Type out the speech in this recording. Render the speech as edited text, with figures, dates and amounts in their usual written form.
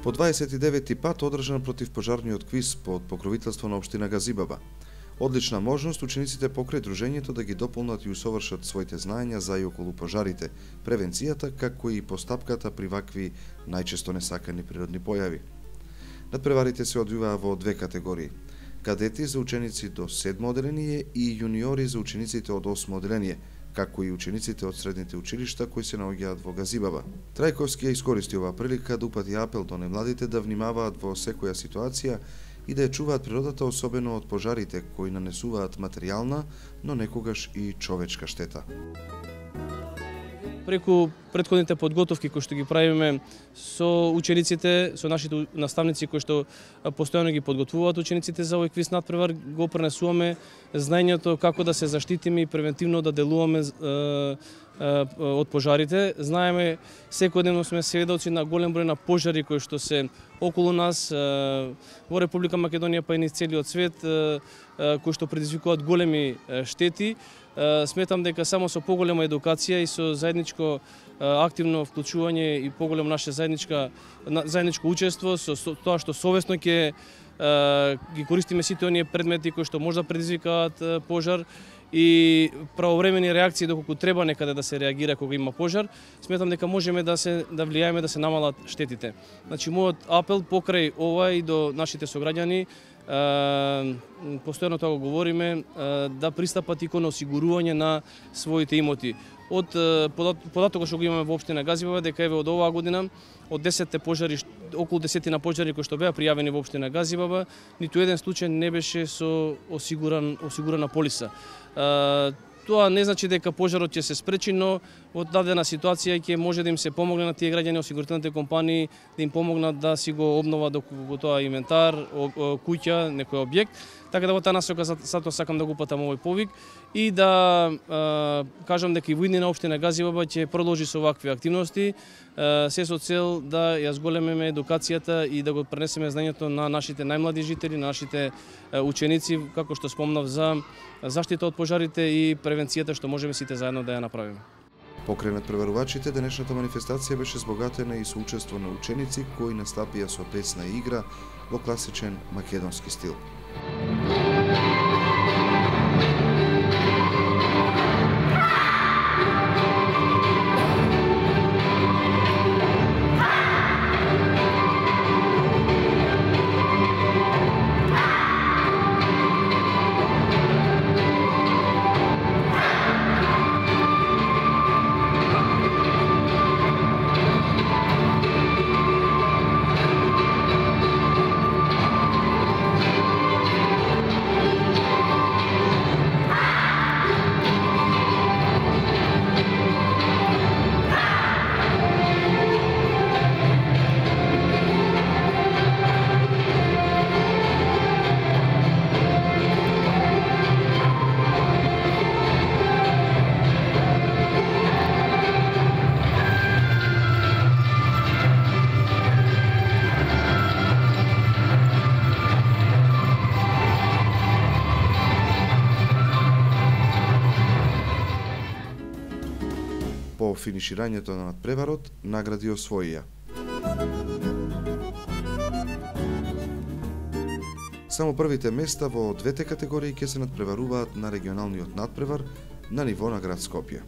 По 29-ти пат одржан противпожарниот квиз под покровителство на општина Газибаба. Одлична можност учениците покрај дружењето да ги дополнат и усовршат своите знаења за и околу пожарите, превенцијата, како и постапката при вакви најчесто несакани природни појави. Надпреварите се одвиваа во две категории: кадети за ученици до 7 оделение и јуниори за учениците од 8 оделение, како и учениците од средните училишта кои се наоѓаат во Газибаба. Трајковски ја искористи оваа прилика да упати апел до немладите да внимаваат во секоја ситуација и да ја чуваат природата, особено од пожарите кои нанесуваат материјална, но некогаш и човечка штета. Преку претходните подготовки кои што ги правиме со учениците, со нашите наставници кои што постојано ги подготвуваат учениците за овој квиз надпревар, го пренесуваме знаењето како да се заштитиме и превентивно да делуваме од пожарите. Знаеме, секојдневно сме сведоци на голем број на пожари кои што се околу нас во Република Македонија, па и низ целиот свет, кои што предизвикуваат големи штети. Сметам дека само со поголема едукација и со заедничко активно вклучување и поголемо наше заедничко учество, со тоа што совесно ќе ги користиме сите оние предмети кои што може да предизвикаат пожар и правовремени реакции доколку треба некаде да се реагира кога има пожар, сметам дека можеме да влијаеме да се намалат штетите. Значи, мојот апел покрај ова и до нашите сограѓани, постојано тоа го говориме, да пристапат и кон осигурување на своите имоти. Од податокот што го имаме во општина Газибаба, дека еве од оваа година, од 10 пожари, околу 10 пожари кои што беа пријавени во општина Газибаба, ниту еден случај не беше со осигурана полиса. Тоа не значи дека пожарот ќе се спречи, но во дадена ситуација ќе може да им се помогне на тие граѓани, осигурителните компании, да им помогнат да си го обноват доколку тоа инвентар, куќа, некој објект. Така да во таа насока затоа сакам да го упатам овој повик и да кажам дека и во иднина општина Газибаба ќе продолжи со вакви активности, се со цел да ја зголемиме едукацијата и да го пренесеме знаењето на нашите најмлади жители, на нашите ученици, како што спомнав, за заштита од пожарите и превенцијата што можеме сите заедно да ја направиме. Покрај надпреварувачите, денешната манифестација беше збогатена и со учество на ученици кои настапија со песна и игра во класичен македонски стил. По финиширањето на надпреварот, награди освоија. Само првите места во двете категории ќе се надпреваруваат на регионалниот надпревар на ниво на град Скопје.